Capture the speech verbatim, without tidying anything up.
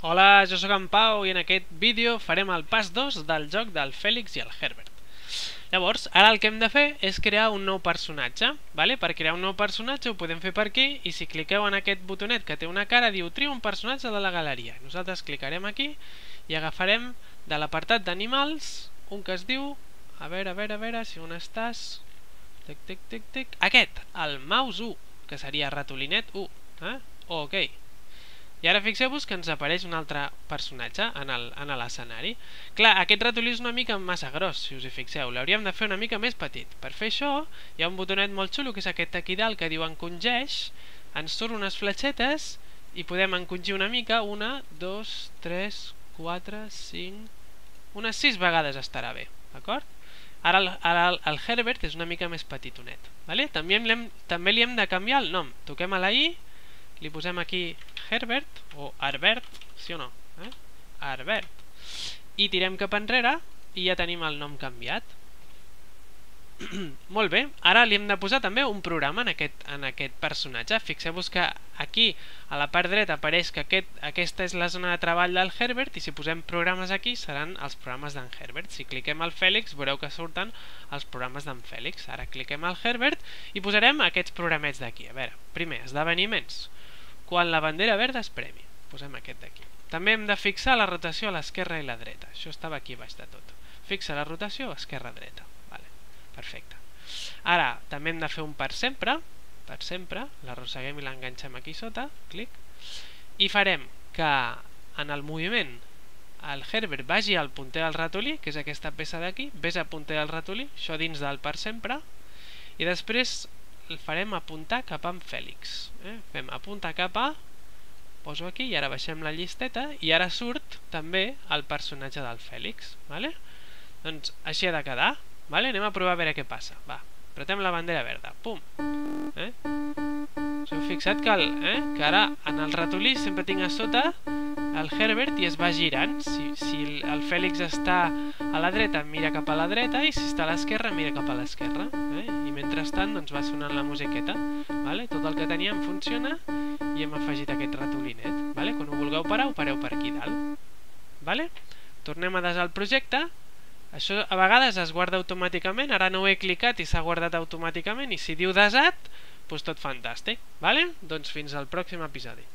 Hola, jo sóc en Pau i en aquest vídeo farem el pas dos del joc del Fèlix i el Herbert. Llavors, ara el que hem de fer és crear un nou personatge. Vale? Per crear un nou personatge ho podem fer per aquí i si cliqueu en aquest botonet que té una cara diu tria un personatge de la galeria. Nosaltres clicarem aquí i agafarem de l'apartat d'animals un que es diu, a veure, a veure, a veure si on estàs, tic, tic, tic, tic, aquest, el mouse u, que seria ratolinet u. Eh? Ok. I ara fixeu-vos que ens apareix un altre personatge en l'escenari. Clar, aquest ratolí és una mica massa gros, si us hi fixeu. L'hauríem de fer una mica més petit. Per fer això, hi ha un botonet molt xulo, que és aquest aquí dalt, que diu encongeix. Ens surt unes fletxetes i podem encongir una mica. Una, dos, tres, quatre, cinc... Unes sis vegades estarà bé, d'acord? Ara el, ara el Herbert és una mica més petitonet. Vale? També, hem, també li hem de canviar el nom. Toquem a la i, li posem aquí Herbert o Herbert, sí o no? Eh? Herbert. I tirem cap enrere i ja tenim el nom canviat. Molt bé, ara li hem de posar també un programa en aquest, en aquest personatge. Fixeu-vos que aquí a la part dreta apareix que aquest, aquesta és la zona de treball del Herbert i si posem programes aquí seran els programes d'en Herbert. Si cliquem al Fèlix veureu que surten els programes d'en Fèlix. Ara cliquem al Herbert i posarem aquests programets d'aquí. A veure, primer, esdeveniments. Quan la bandera verda es premi. Posem aquest d'aquí. També hem de fixar la rotació a l'esquerra i la dreta. Això estava aquí baix de tot. Fixa la rotació esquerra-dreta. Vale. Perfecte. Ara, també hem de fer un per sempre. Per sempre. L'arrosseguem i l'enganxem aquí sota. Clic. I farem que en el moviment el Herbert vagi al punter del ratolí, que és aquesta peça d'aquí. Ves a punter del ratolí. Això dins del per sempre. I després el farem apuntar cap a en Fèlix. Eh? Fem apuntar cap a, poso aquí i ara baixem la llisteta i ara surt també el personatge del Fèlix. Vale? Doncs així ha de quedar. Vale? Anem a provar a veure què passa. Va, apretem la bandera verda. Pum! Eh? Us heu fixat que, el, eh? que ara en el ratolí sempre tinc a sota el Herbert i es va girant. Si, si el Fèlix està a la dreta mira cap a la dreta i si està a l'esquerra mira cap a l'esquerra. Eh? I mentrestant doncs, va sonant la musiqueta. Vale? Tot el que teníem funciona i hem afegit aquest ratolinet. Vale? Quan ho vulgueu parar, ho pareu per aquí dalt. Vale? Tornem a desar el projecte. Això a vegades es guarda automàticament. Ara no ho he clicat i s'ha guardat automàticament i si diu desat, doncs tot fantàstic. Vale? Doncs fins al pròxim episodi.